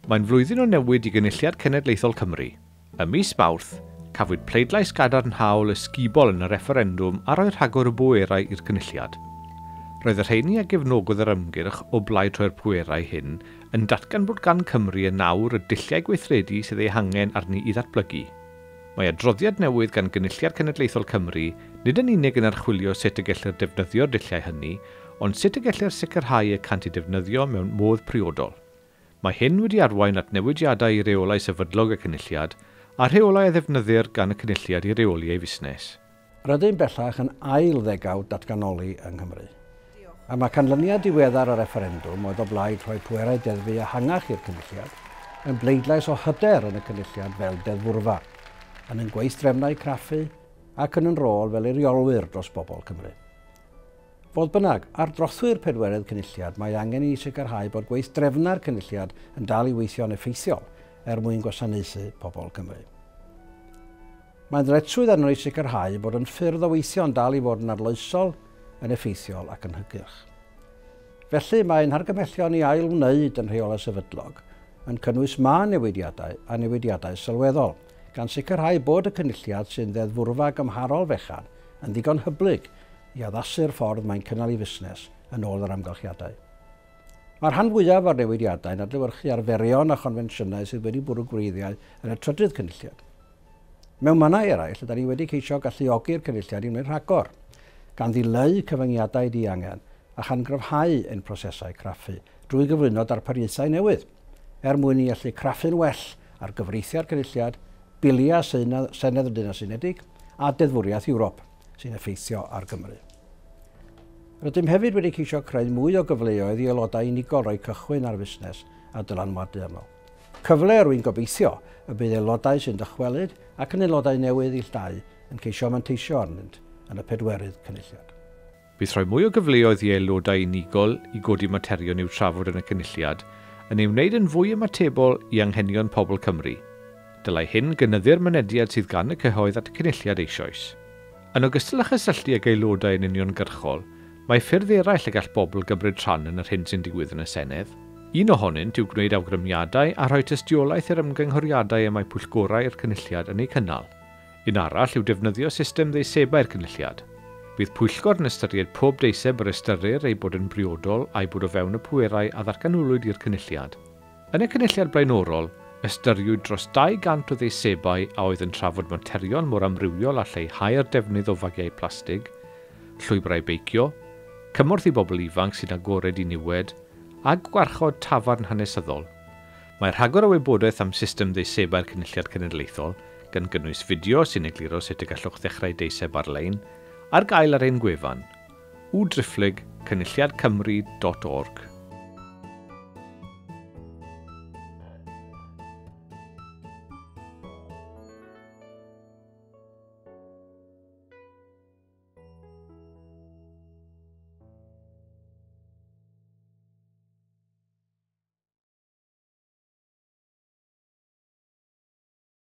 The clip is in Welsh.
Mae'n flwyddyn o newid i Gynulliad Cenedlaethol Cymru. Ym mis Mawrth, cafwyd pleidlais gadarnhaol ysgubol yn y refferendwm a roi rhagor o bwerau i'r Cynulliad. Roedd y rheini a gefnogodd yr ymgyrch o blaid rhoi'r pwerau hyn yn datgan bod gan Cymru yn nawr y dulliau gweithredu sydd eu hangen arni i ddatblygu. Mae adroddiad newydd gan Gynulliad Cenedlaethol Cymru nid yn unig yn archwilio sut y gellir defnyddio'r dulliau hynny, ond sut y gellir sicrhau y cant eu defnyddio mewn modd priodol. Mae hyn wedi arwain at newidiadau i reolau sefydlog y Cynulliad a rheolau a ddefnyddir gan y Cynulliad i reoli ei fusnes. Rydym bellach yn ail ddegawd datganoli yng Nghymru. A mae canlyniad diweddar y refferendwm oedd o blaid rhoi pwerau deddfu ehangach i'r Cynulliad yn bleidlais o hyder yn y Cynulliad fel deddfwrfa, yn ein gweithdrefnau craffu ac yn ein rôl fel eiriolwyr dros bobl Cymru. Fodd bynnag, ar drothwy'r pedwerydd Cynulliad mae angen i ni sicrhau bod gweithdrefnau'r Cynulliad yn dal i weithio'n effeithiol er mwyn gwasanaethu pobl Cymru. Mae'n ddyletswydd arno i sicrhau bod yn ffyrdd o weithio'n dal i fod yn arloesol, yn effeithiol ac yn hygyrch. Felly mae'n hargymhellion i ail-wneud yn rheolau sefydlog yn cynnwys mân newidiadau a newidiadau sylweddol, gan sicrhau bod y Cynulliad sy'n ddeddfwrfa gymharol fechan yn ddigon hyblyg i addasu'r ffordd mae'n cynnal ei fusnes yn ôl yr amgylchiadau. Mae'r rhan fwyaf o'r newidiadau'n adlewyrchu arferion a chonfensiynau sydd wedi bwrw gwreiddiau yn y trydydd Cynulliad. Mewn mannau eraill, ydan ni wedi ceisio galluogi'r Cynulliad i wneud rhagor, gan ddileu cyfyngiadau diangen a chan gryfhau ein prosesau craffu drwy gyflwyno darpariaethau newydd, er mwyn i allu craffu'n well ar gyfreithiau'r Cynulliad, biliau Senedd y Deyrnas Unedig a deddfwriaeth Ewrop sy'n effeithio ar Gymru. Rydym hefyd wedi ceisio creu mwy o gyfleoedd i aelodau unigol roi cychwyn ar fusnes a dylanwadu arno. Cyfle rwy'n gobeithio y bydd aelodau sy'n dychwelyd ac yn aelodau newydd ill dau yn ceisio manteisio arnynt yn y pedwerydd Cynulliad. Bydd rhoi mwy o gyfleoedd i aelodau unigol i godi materion i'w trafod yn y Cynulliad yn ei wneud yn fwy ymatebol i anghenion pobl Cymru. Dylai hyn gynyddu'r mynediad sydd gan y cyhoedd at y Cynulliad eisoes. Yn ogystal â chysylltu ag aelodau yn uniongyrchol, mae ffyrdd eraill y gall bobl gymryd rhan yn yr hyn sy'n digwydd yn y Senedd. Un ohonynt yw gwneud awgrymiadau a rhoi tystiolaeth i'r ymgynghoriadau y mae pwyllgorau i'r Cynulliad yn eu cynnal. Un arall yw defnyddio system ddeisebau'r Cynulliad. Bydd pwyllgor yn ystyried pob deiseb yr ystyrir ei bod yn briodol a'i bod o fewn y pwerau a ddatganolwyd i'r Cynulliad. Yn y Cynulliad blaenorol, ystyriwyd dros 200 o ddeisebau a oedd yn trafod materion mor amrywiol a lleihau'r defnydd o fagiau plastig, llwybrau beicio, cymorth i bobl ifanc sy'n agored i niwed, a gwarchod tafarn hanesyddol. Mae rhagor o wybodaeth am system ddeisebau'r Cynulliad Cenedlaethol, gan gynnwys fideo sy'n egluro sut y gallwch ddechrau deiseb ar-lein, ar gael ar ein gwefan www.cynulliadcymru.org.